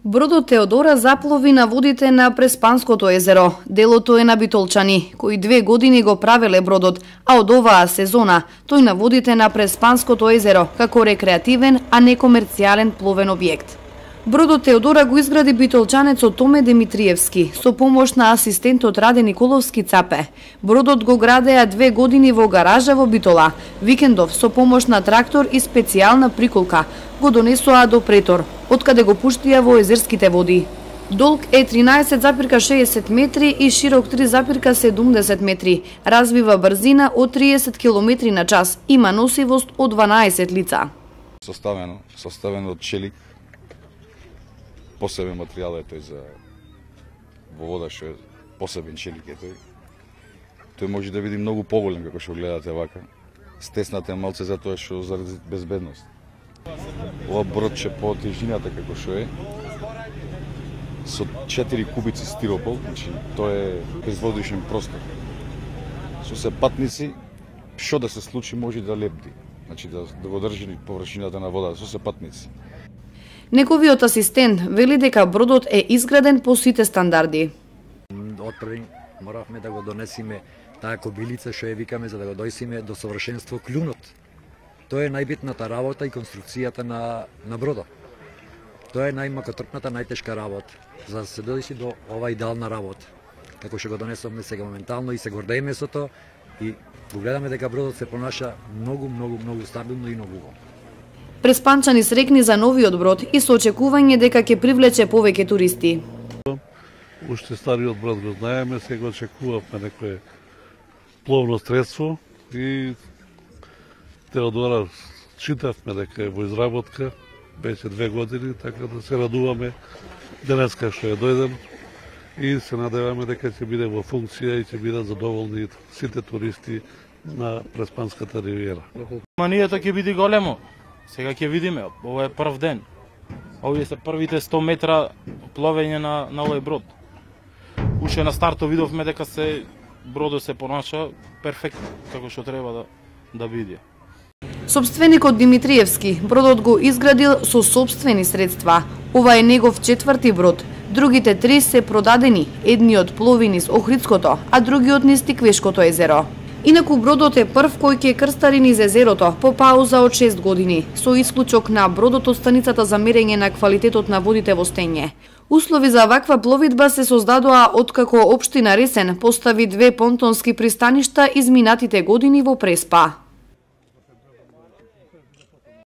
Бродот Теодора заплови на водите на Преспанското езеро. Делото е на битолчани, кои 2 години го правеле бродот, а од оваа сезона тој на водите на Преспанското езеро како рекреативен, а не комерцијален пловен објект. Бродот Теодора го изгради битолчанецот Томе Димитриевски со помош на асистентот Раде Николовски Цапе. Бродот го градеа 2 години во гаража во Битола. Викендов со помош на трактор и специјална приколка го донесоа до Претор, откаде го пуштија во езерските води. Долг е 13,60 метри и широк 3,70 метри. Развива брзина од 30 км на час. Има носивост од 12 лица. Составено од челик. Посебен материјал е тој за во вода, што е посебен челик е тој. Тој може да види многу поголем како што гледате вака. Стеснате малце затоа што заради безбедност. Ова бродче по тежината како што е, со 4 кубици стиропол, значи тоа е безводишен простор. Со се патници, што да се случи може да лепди, значи да го држи површината на вода со се патници. Неговиот асистент вели дека бродот е изграден по сите стандарди. Отпред моравме да го донесиме таа кобилица што ја викаме за да го дојсиме до совршенство клюнот. Тоа е најбитната работа и конструкцијата на бродот. Тоа е најмакотрпната, најтешка работа за да се дојде до ова идеална работа. Како што го донесовме сега моментално и се гордееме со тоа и го гледаме дека бродот се понаша многу стабилно и многу убаво. Преспанчани срекни за новиот брод и со очекување дека ќе привлече повеќе туристи. Уште стариот брод го знаеме, сега очекувавме некое пловно средство и Теодора читавме дека е во изработка, веќе 2 години, така да се радуваме денеска што ја дојдем и се надеваме дека ќе биде во функција и ќе бидат задоволни сите туристи на Преспанската ривиера. Манијата ќе биде големо. Сега ќе видиме, ова е прв ден. Овие се првите 100 метра пловење на овој брод. Уште на стартот видовме дека бродот се понаша перфектно, како што треба да биде. Собственикот Димитриевски бродот го изградил со сопствени средства. Ова е негов 4ти брод. Другите 3 се продадени, едниот плови низ Охридското, а другиот низ Тиквешкото езеро. Инаку бродот е прв кој ќе крстари низ езерото по пауза од 6 години, со исклучок на бродот од станицата за мерење на квалитетот на водите во Стење. Услови за ваква пловидба се создадоа откако општина Ресен постави 2 понтонски пристаништа изминатите години во Преспа.